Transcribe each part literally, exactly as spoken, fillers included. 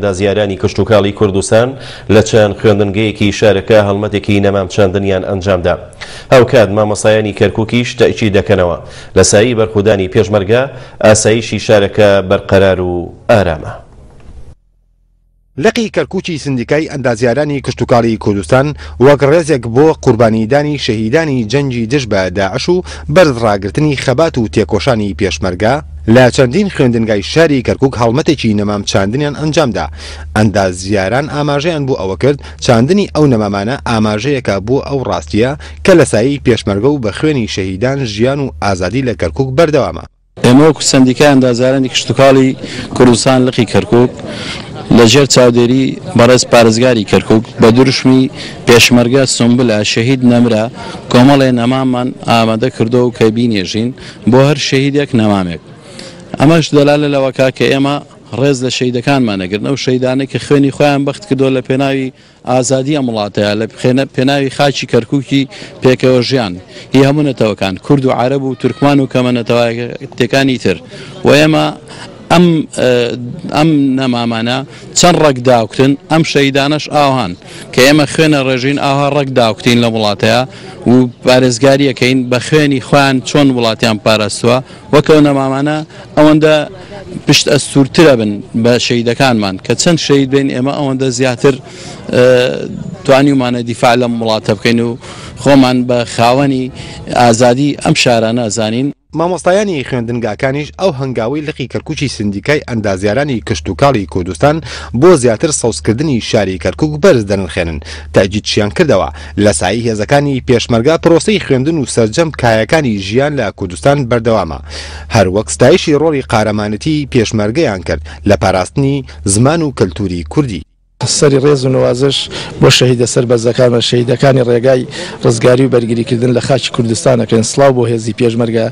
ئەندازیارانی کشتوکاڵی کوردستان لە چەند خوێندنگەیەکی شارەکە هەڵمەتێکی نەمام چاندنیان ئەنجامدا. هاوکات مامۆستایانی کەرکووکیش تەئکید دەکەنەوە لە سایەی بەرخودانی پێشمەرگە ئاسایشی شارەکە بەرقەرار و ئارامە. لقی کەرکووکی سندیکای ئەندازیارانی کشتوکاڵی کوردستان وەک ڕێزێک بۆ قوربانیدانی شەهیدانی جەنگی دژ بە داعش و بەرز ڕاگرتنی خەبات و تێکۆشانی پێشمەرگە لە چەندین خوێندنگای شاری کەرکووک هەڵمەتێکی نەمام چاندنیان ئەنجامدا. ئەندازیاران ئاماژەیان بۆ ئەوە کرد چاندنی ئەو نەمامانە ئاماژەیەکە بۆ ئەو ڕاستیە کە لە سایەی پێشمەرگە و بە خوێنی شەهیدان ژیان و ئازادی لە کەرکووک بەردەوامە. ئێمە وەکو سەندیکای ئەندازیارانی کشتوکاڵی کوردستان لقی کەرکووک لەژێر چاودێری بەڕێز پارێزگاری کەرکووک بە دروشمی پێشمەرگە سنبلە شەهید نەمرە کۆمەڵێ نەمامان ئامادە کردو و کە بینێژین بۆ هەر شەهیدێک نەمامێک. ئەمەش دەلالە لەوەکا کە ئێمە ڕێز لە شەهیدەکانمان نەگرن، ئەو شەهیدانەی کە خوێنی خۆیان بەخت کردووە لە پێناوی ئازادی ئەم وڵاتەیە، لە پێناوی خاکی کەرکووکی پێکەوە ژیان هی هەموو نەتەوەکان، کورد و عەرەب و تورکمان و کەمە نەتەوایەتەکانی تر. و ئێمە ئەم ئەم نەمامانە چەند ڕەگ داوکتن، ئەم شەهیدانەش ئاوهان کە ئێمە خوێنە ڕێژین ئاها ڕەگ داوکتین لە وڵاتەیە و پارێزگاریەکەین بە خوێنی خۆیان چۆن وڵاتیان پاراستووە، وەکەو نەمامانە ئەوەندە پشت ئەستوورترە بن بە شەهیدەکانمان کە چەند شەهید بین ئێمە ئەوەندە زیاتر توانیومانە دیفاع لەم وڵاتە بکەین و خۆمان بە خاوەنی ئازادی ئەم شارانە زانین. مامۆستایانی خوێندنگاکانیش ئەو هەنگاوەی لقی کەرکووکی سندیکای ئەندازیارانی کشتوکاڵی کوردستان بۆ زیاتر سەوزکردنی شاری کەرکووک بەرز دەنرخێنن تەئکیدشیان کردەوە لە سایەی هێزەکانی پێشمەرگە پرۆسەی خوێندن و سەرجەم کایەکانی ژیان لە کوردستان بەردەوامە، هەروەک ستایشی ڕۆڵی قارەمانەتی پێشمەرگەیان کرد لە پاراستنی زمان و کەلتوری کوردی. سەری ڕێز و نوازش بۆ شەهیدە سەربەرزەکان و شەهیدەکانی ڕێگای ڕزگاری و بەرگریکردن لە خاکی کوردستان ئەکەین. سڵاو بۆ هێزی پێشمەرگە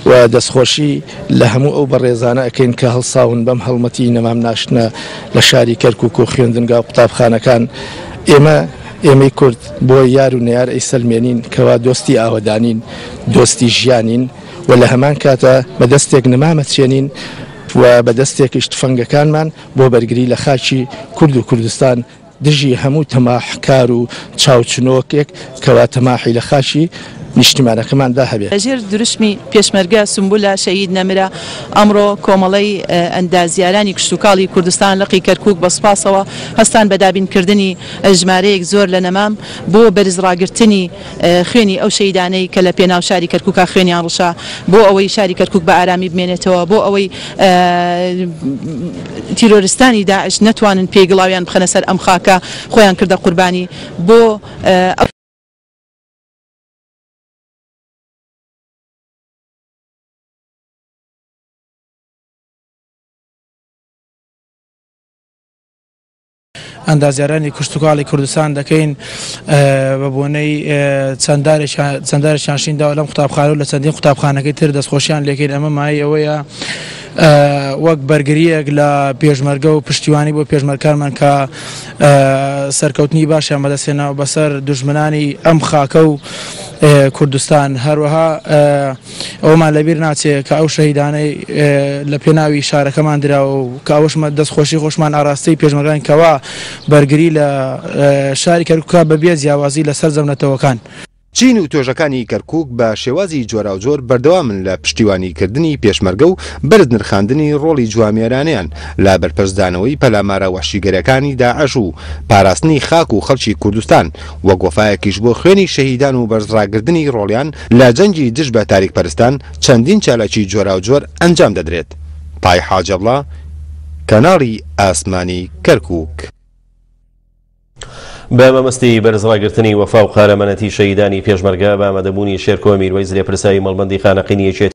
و دەستخۆشی لە هەموو ئەو بەڕێزانە ئەکەین کە هەڵساون بەم هەڵمەتی نەمام ناشتنە لە شاری کەرکووک و خوێندنگا و قوتابخانەکان. ئێمە ئێمەی کورد بۆ یار و نەیار ئەیسەلمێنین کەوا دۆستی ئاوەدانین، دۆستی ژیانین و لە هەمان کاتە بە دەستێک نەمامە چێنین و بە دەستێکیش تفەنگەکانمان بۆ بەرگری لە خاکی کورد و کوردستان دژی هەموو تەماحکار و چاوچنۆکێک کەوا تەماحی لە خاکی نیشتیمانەکەماندا هەبێت. لەژێر دروشمی پێشمەرگە سنبولە شەهید نەمرە ئەمڕۆ کۆمەڵەی ئەندازیارانی کشتوکاڵی کوردستان لقی کەرکووک بە سوپاسەوە هەستان بە دابینکردنی ژمارەیەک زۆر لە نەمام بۆ بەرز ڕاگرتنی خوێنی ئەو شەهیدانەی کە لە پێناو شاری کەرکووکا خوێنیان ڕشا بۆ ئەوەی شاری کەرکووک بە ئارامی بمێنێتەوە، بۆ ئەوەی تیرۆریستانی داعش نەتوانن پێی گڵاویان بخەنە سەر ئەم خاکە خۆیان کردە قوربانی بۆ ئەو ئەندازیارانی کشتوکاڵی کوردستان دەکەین بە بۆنەی چەندارێکیان شین داوە لەم قوتابخانە و لە چەندین قوتابخانەکەی تر دەستخۆشیان لێکەین. ئەمە مایەی ئەوەیە وەک بەرگریەک لە پێشمەرگە و پشتیوانی بۆ پێشمەرگەکانمان کە سەرکەوتنی باشیان بەدەستهێناوە بەسەر دوژمنانی ئەم خاکە و کوردستان. هەروەها ئەومان لەبیر ناچێت کە ئەو شەهیدانەی لە پێناوی شارەکەمان دراوە و کە ئەوەشمە دەستخۆشی خۆشمان ئاراستەی پێشمەرگان کەوا بەرگری لە شاری کەرکووکا بەبێ جیاوازی لە سەرجەم نەتەوەکان. چین و توێژەکانی کەرکووک بە شێوازی جۆراوجۆر بەردەوامن لە پشتیوانیکردنی پێشمەرگە و بەرز نرخاندنی ڕۆڵی جوامێرانیان لە بەرپەرچدانەوەی پەلامارە وەحشیگەرەکانی داعش و پاراستنی خاک و خەڵکی کوردستان وەک وەفایەکیش بۆ خوێنی شەهیدان و بەرزڕاگرتنی ڕۆڵیان لە جەنگی دژ بە تاریکپەرستان چەندین چالاکی جۆراوجۆر ئەنجام دەدرێت. پای حاجەبڵا، کەناڵی ئاسمانی کەرکووک. بە مەبەستی بەرزڕاگرتنی وەفا و قارەمانەتی شەهیدانی پێشمەرگە بە ئامادەبوونی شێرکۆ میروەیس لێپرسراوی مەڵبەندی خانەقینی یەکێتی